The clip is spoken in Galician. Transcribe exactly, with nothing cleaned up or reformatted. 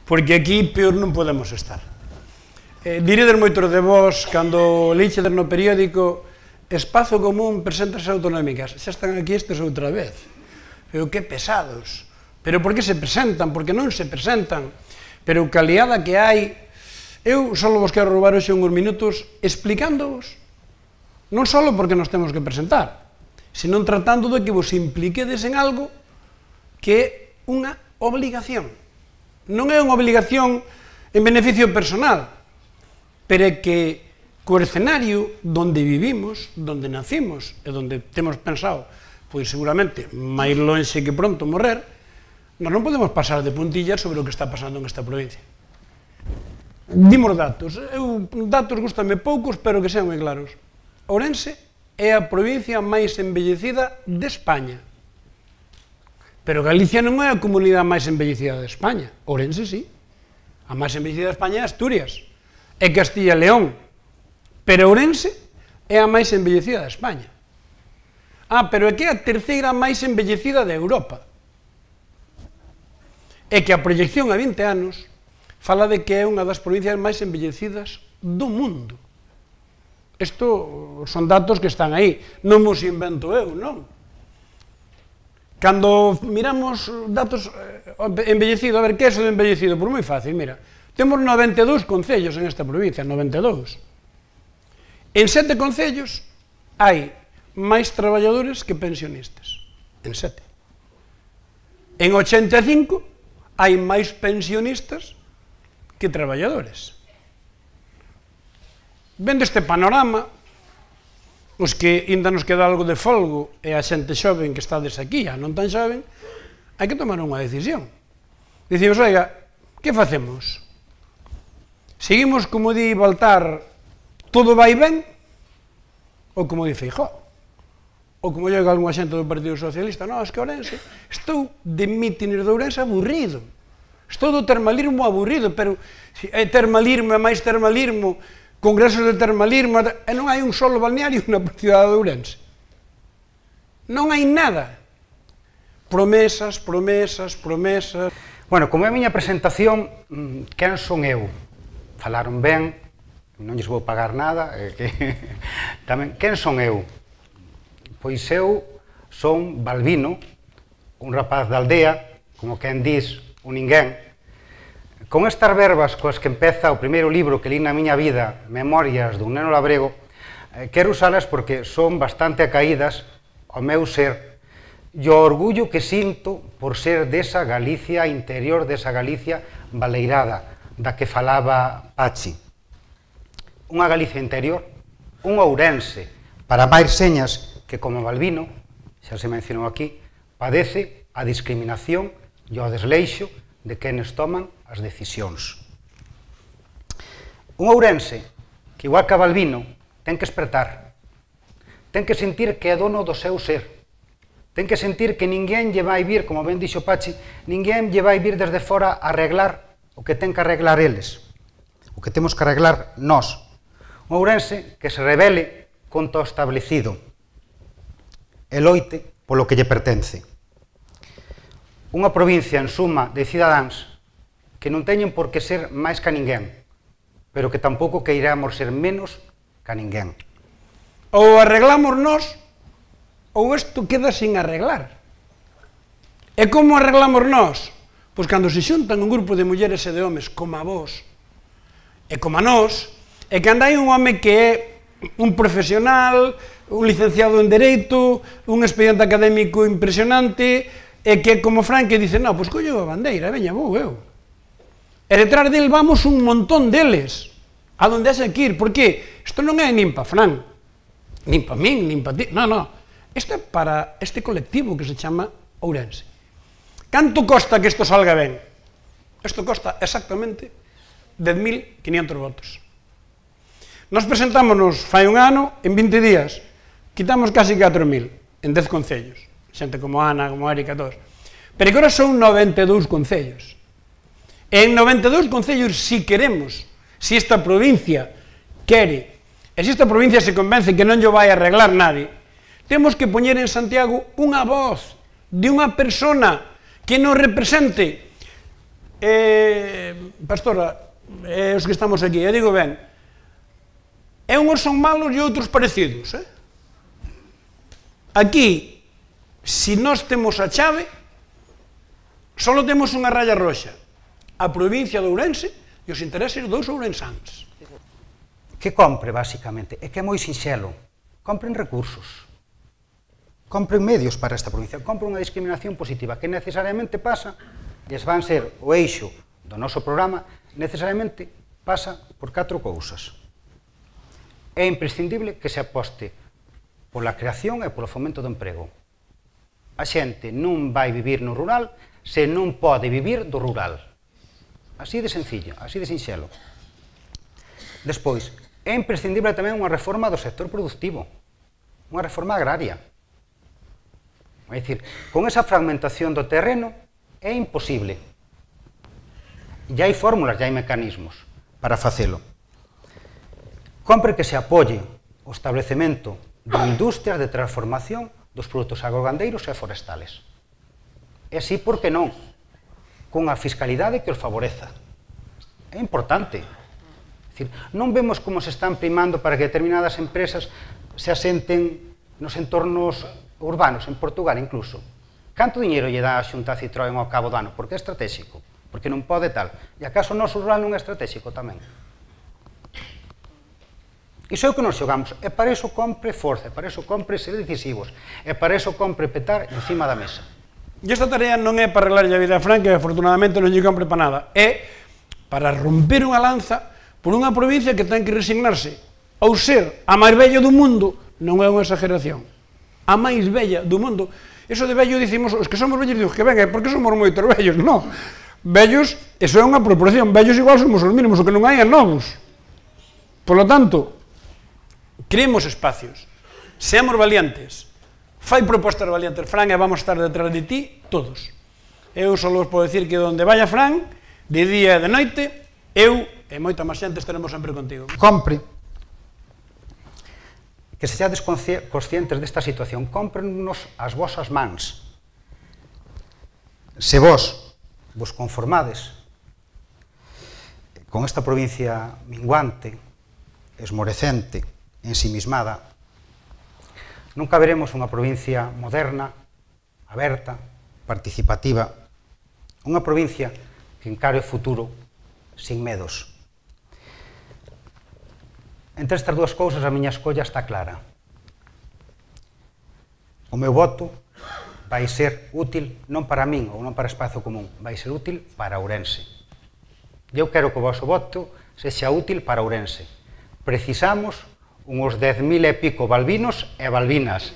porque aquí peor non podemos estar. Eh, diredes moitos de vós, cando leichedes no periódico, Espazo Común presenta as autonómicas, xa están aquí estes outra vez. Pero que pesados. Pero por que se presentan? Porque non se presentan. Pero que aliada que hai. Eu só vos quero roubar hoxe uns minutos explicándoos, non só porque nos temos que presentar, senón tratando de que vos impliquedes en algo que é unha obligación. Non é unha obligación en beneficio personal, pero é que co escenario donde vivimos, donde nacimos e donde temos pensado, pois seguramente máis lonxe que pronto morrer, nós non podemos pasar de puntillas sobre o que está pasando en esta provincia. Dimos datos, eu datos gustame poucos, pero que sean moi claros. Ourense é a provincia máis envellecida de España. Pero Galicia non é a comunidade máis envellecida de España. Ourense, sí. A máis envellecida de España é Asturias. É Castilla e León. Pero Ourense é a máis envellecida de España. Ah, pero é que é a terceira máis envellecida de Europa. É que a proyección a vinte anos fala de que é unha das provincias máis envellecidas do mundo. Isto son datos que están aí. Non os invento eu, non? Cando miramos datos envellecidos, a ver, que é eso de envellecido? Por moi fácil, mira, temos noventa e dous concellos en esta provincia, noventa e dous. En sete concellos hai máis traballadores que pensionistas, en sete. En ochenta e cinco hai máis pensionistas que traballadores. Vendo este panorama, os que ainda nos queda algo de folgo e a xente xoven que estades aquí, a non tan xoven, hai que tomar unha decisión. Dicimos, oiga, que facemos? Seguimos, como di Baltar, todo vai ben? Ou como di Feijóo? Ou como llega algunha xente do Partido Socialista, non, es que Ourense, estou de mítines de Ourense aburrido. Estou do termalismo aburrido, pero é termalismo, é máis termalismo, congresos de termalismo, e non hai un solo balneario na cidade de Ourense. Non hai nada. Promesas, promesas, promesas. Bueno, como é a miña presentación, quen son eu? Falaron ben, non lles vou pagar nada, eh, que tamén, quen son eu? Pois eu son Balbino, un rapaz da aldea, como quen dis, un ninguén. Con estas verbas coas que empeza o primeiro libro que li na miña vida, Memorias dun neno labrego, eh, quero usalas porque son bastante acaídas ao meu ser e o orgullo que sinto por ser desa Galicia interior, desa Galicia baleirada, da que falaba Pachi. Unha Galicia interior, un Ourense, para máis señas que como Balbino, xa se mencionou aquí, padece a discriminación e o desleixo de quenes toman as decisións. Un Ourense que, igual que a Balbino, ten que espertar, ten que sentir que é dono do seu ser, ten que sentir que ninguén lle vai vir, como ben dixo Pachi, ninguén lle vai vir desde fora a arreglar o que ten que arreglar eles, o que temos que arreglar nós. Un Ourense que se rebele contra o establecido e loite polo que lle pertence. Unha provincia, en suma, de cidadáns que non teñen por que ser máis que ninguén, pero que tampouco queiramos ser menos que ninguén. Ou arreglamos nós, ou isto queda sin arreglar. E como arreglamos nós? Pois cando se xuntan un grupo de mulleres e de homes como a vos, e como a nós, e que andai un home que é un profesional, un licenciado en Dereito, un expediente académico impresionante, e que como Fran que dice, non, pois collo a bandeira, veña, vou eu. E detrás del vamos un montón deles, a donde haxe que ir, porque isto non é nin pa Fran, nin pa min, nin pa ti, non, non, isto é para este colectivo que se chama Ourense. Canto costa que isto salga ben? Isto costa exactamente dez mil quinientos votos. Nos presentámonos fai un ano, en vinte días, quitamos casi catro mil, en dez concellos. Xente como Ana, como Erika, todos. Pero que ahora son noventa e dous concellos. E en noventa e dous concellos, si queremos, si esta provincia quere, e se esta provincia se convence que non llo vai arreglar nadie, temos que poñer en Santiago unha voz de unha persona que nos represente eh, Pastora, eh, os que estamos aquí, eu digo ben, e uns son malos e outros parecidos, eh? Aquí, se nós temos a chave, só temos unha raya roxa, a provincia de Ourense e os intereses dos ourensáns. Que compre, basicamente, é que é moi sinxelo. Compren recursos. Compren medios para esta provincia. Compren unha discriminación positiva que necesariamente pasa, e van ser o eixo do noso programa, necesariamente pasa por catro cousas. É imprescindible que se aposte pola creación e polo fomento do emprego. A xente non vai vivir no rural se non pode vivir do rural. Así de sencillo, así de sinxelo. Despois, é imprescindible tamén unha reforma do sector productivo, unha reforma agraria. É dicir, con esa fragmentación do terreno é imposible. E hai fórmulas, e hai mecanismos para facelo. Compre que se apoie o establecemento de industrias de transformación dos produtos agrogandeiros e forestales. E así, por que non? Con a fiscalidade que os favoreza. É importante. É dicir, non vemos como se están primando para que determinadas empresas se asenten nos entornos urbanos, en Portugal incluso. Canto dinheiro lle dá a Xunta a Citroën ao cabo do ano? Porque é estratégico, porque non pode tal. E acaso o noso rural non é estratégico tamén? Iso é o que nos xogamos, e para iso compre forza, e para iso compre ser decisivos, e para iso compre petar encima da mesa. E esta tarea non é para arreglar a vida a Fran, que afortunadamente non lle compre para nada, é para romper unha lanza por unha provincia que ten que resignarse ao ser a máis bella do mundo, non é unha exageración, a máis bella do mundo. Eso de vello dicimos, os que somos vellos digo que ben, é porque somos moitos vellos, non. Vellos, eso é unha proporción, vellos igual somos os mínimos, o que non hai é novos. Por lo tanto, creemos espacios, seamos valientes, fai propostas valientes, Fran, e vamos estar detrás de ti, todos. Eu só vos podo decir que onde vaya Fran, de día e de noite, eu e moita máis xente estaremos sempre contigo. Compre que sexades conscientes desta situación, cómprenos as vosas mans. Se vos vos conformades con esta provincia minguante, esmorecente, ensimismada, nunca veremos unha provincia moderna, aberta, participativa, unha provincia que encare o futuro sin medos. Entre estas dúas cousas a miña escolla está clara. O meu voto vai ser útil non para min ou non para Espazo Común, vai ser útil para Ourense. Eu quero que o vosso voto sexa útil para Ourense. Precisamos uns dez mil e pico balbinos e balbinas